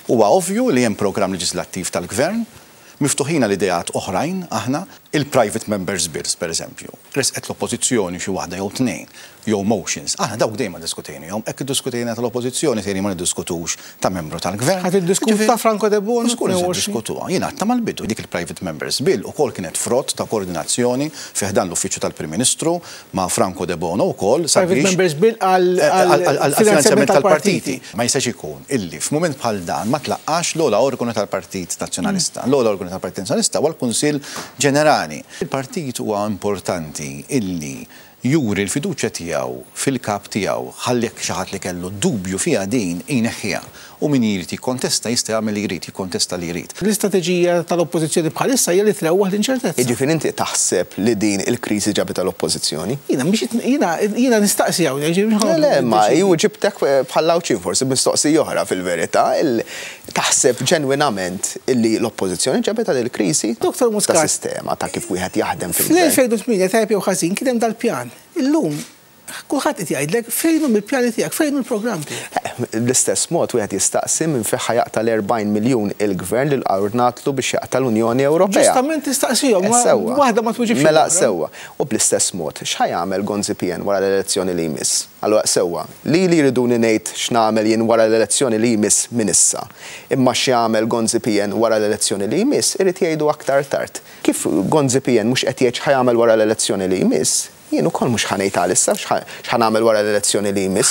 Huwa ovvju li hemm programm leġislattiv tal-Gvern, miftuħin għal ideat oħrajn aħna, il-private members bills pereżempju. Ressqet l-Oppożizzjoni xi waħda jew tnejn, jew motions. Aħna dawk dejjem ma ddiskutejnihom, hekk iddiskutejna tal-Oppożizzjoni tgħidli ma niddiskutux ta' membru tal-Gvern. Ħa tiddiskutu ta' Franco Debono? Żgur li se niddiskutuha. Jien għadtha mal-bidu, dik il-private members bill ukoll kienet frott ta' koordinazzjoni fi ħdan l-Uffiċċju tal-Prim Ministru ma' Franco Debono wkoll sabiex. Private members bill għall-finanzjament tal-partiti. Ma jistax ikun illi f'mument bħal dan ma tlaqqax l-ogħla organu tal-Partit Nazzjonalista. L-ogħla organu tal-Partit Nazzjonalista huwa l-Kunsill Ġenerali. Il-partit huwa importanti illi juri l-fiduċja tiegħu fil-kap tiegħu ħalli jekk xi ħadd li kellu dubju fiha din jneħħiha u min jrid jikkontesta jista' jagħmel li jrid, jikkontesta li jrid. L-istrateġija tal-Oppożizzjoni bħalissa hija li trewwaħ l-inċertezza. Jiġifieri inti taħseb li din il-kriżi ġabitha l-Oppożizzjoni? Jiena mhix jiena jiena nistaqsi hawnhekk, jiġifieri mhux Le, le, ma ju ġibtek bħall-Għawdxin forsi b'mistoqsija oħra fil-verità. Taħseb ġenwinament illi l-Oppożizzjoni ġabitha dil-kriżi? Dottor Muscat. Ta' sistema ta' kif wieħed jaħdem fil-Gvern. Fl-2008, tajjeb jew ħażin, kien hemm dal-pjan. Illum, kulħadd qed jgħidlek fejn hu mill-pjani tiegħek, fejn hu l-programm tiegħek. Bl-istess mod wieħed jistaqsi minn fejn ħa jaqta' l-40 miljun il-Gvern li ordnatlu biex jaqta' l-Unjoni Ewropea. Ġustament tistaqsihom, waħda ma twiġibx Mela sewwa. U bl-istess mod, x'ħa jagħmel Gonzi PN wara l-elezzjoni li jmiss? Allura sewwa, lili jriduni ngħid x'nagħmel jien wara l-elezzjoni li jmiss minn issa. Imma x'jagħmel Gonzi PN wara l-elezzjoni li jmiss irid jgħidu aktar tard. Kif Gonzi PN mhux qed jgħid x'ħa jagħmel wara l-elezzjoni li jmiss, jien ukoll mhux ħa ngħid għalissa x'ħa nagħmel wara l-elezzjoni li jmiss.